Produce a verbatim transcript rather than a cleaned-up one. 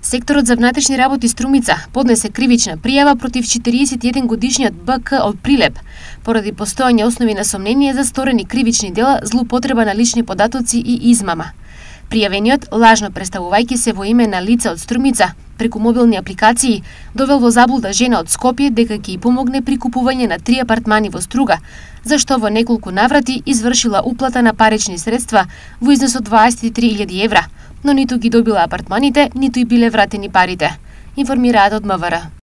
Секторот за внатрешни работи Струмица поднесе кривична пријава против четириесет и еден годишниот Б К од Прилеп поради постоење основи на сомнение за сторени кривични дела, злоупотреба на лични податоци и измама. Пријавениот, лажно представувајќи се во име на лице од Струмица преку мобилни апликации, довел во заблуда жена од Скопје дека ќе ѝ помогне при купување на три апартмани во Струга, зашто во неколку наврати извршила уплата на парични средства во износ од дваесет и три илјади евра, но ниту ги добила апартманите, ниту и биле вратени парите, информираат од М В Р.